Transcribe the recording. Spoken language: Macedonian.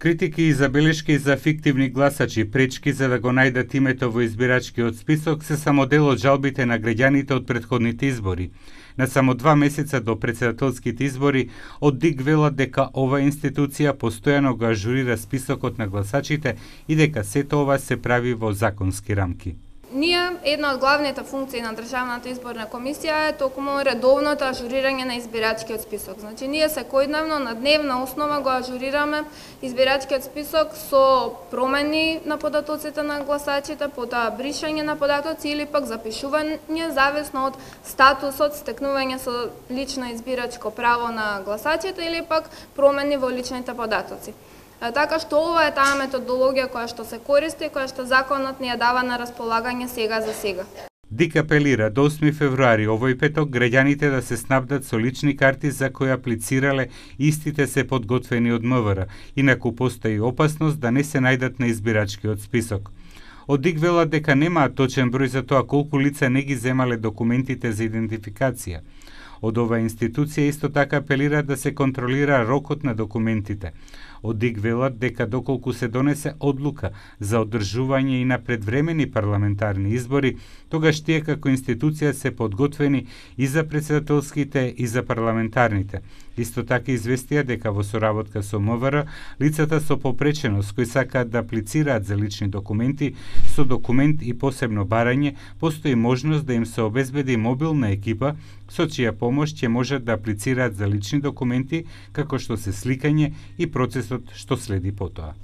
Критики и забелешки за фиктивни гласачи, пречки за да го најдат името во избирачкиот список се само дел од жалбите на граѓаните од претходните избори. На само 2 месеца до претседателските избори, од ДИК велат дека ова институција постојано го ажурира списокот на гласачите и дека сето ова се прави во законски рамки. Една од главните функции на Државната изборна комисија е токму редовното ажурирање на избирачкиот список. Значи, ние секојдневно на дневна основа го ажурираме избирачкиот список со промени на податоците на гласачите, потоа бришање на податоци или пак запишување зависно од статусот, стекнување со лично избирачко право на гласачите или пак промени во личните податоци. Така што ова е таа методологија која што се користи, која што законот ни ја дава на располагање сега за сега. ДИК апелира до 8 февруари овој петок граѓаните да се снабдат со лични карти за кои аплицирале, истите се подготвени од МВР, инаку постои опасност да не се најдат на избирачкиот список. Од ДИК велат дека немаат точен број за тоа колку лица не ги земале документите за идентификација. Од оваа институција исто така апелира да се контролира рокот на документите. Од ДИК велат дека доколку се донесе одлука за одржување и на предвремени парламентарни избори, тогаш тие како институција се подготвени и за претседателските и за парламентарните. Исто така известија дека во соработка со МВР, лицата со попреченост кои сакаат да аплицираат за лични документи со документ и посебно барање, постои можност да им се обезбеди мобилна екипа со чија помош ќе можат да аплицираат за лични документи, како што се сликање и процесот што следи потоа.